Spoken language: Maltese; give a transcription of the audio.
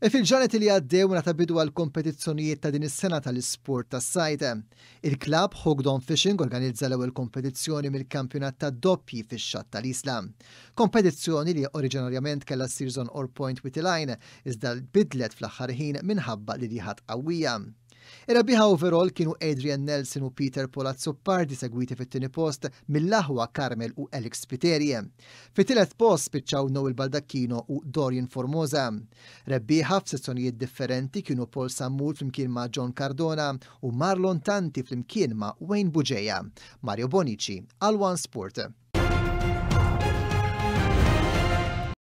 E fil-ġranet li għaddew ngħata bidu għal kompetizzjonijiet ta' din is-sena tal-isport tas-sajd. Il-klabb Hooked on Fishing organizza l-ewwel kompetizzjoni mill-kampjonat tad-doppji fix-xatt tal-Isla. Kompetizzjoni li oriġinarjament kellha ssir Żonqor Point Wied il-Għajn iżda bidlet fl-aħħar ħin minħabba l-irjiħat qawwija. Ir-rebbieħa overall kienu Adrian Nelson u Peter Paul Azzopardi segwiti fit-tieni post mill-aħwa Carmel u Alex Spiteri. Fit-tielet post spiċċaw Noel Baldacchino u Dorian Formosa. Rebbieħa f'sezzjonijiet differenti kienu Paul Sammut flimkien ma' John Cardona u Marlon Tanti flimkien ma' Wayne Bugeja. Mario Bonici għal One Sport.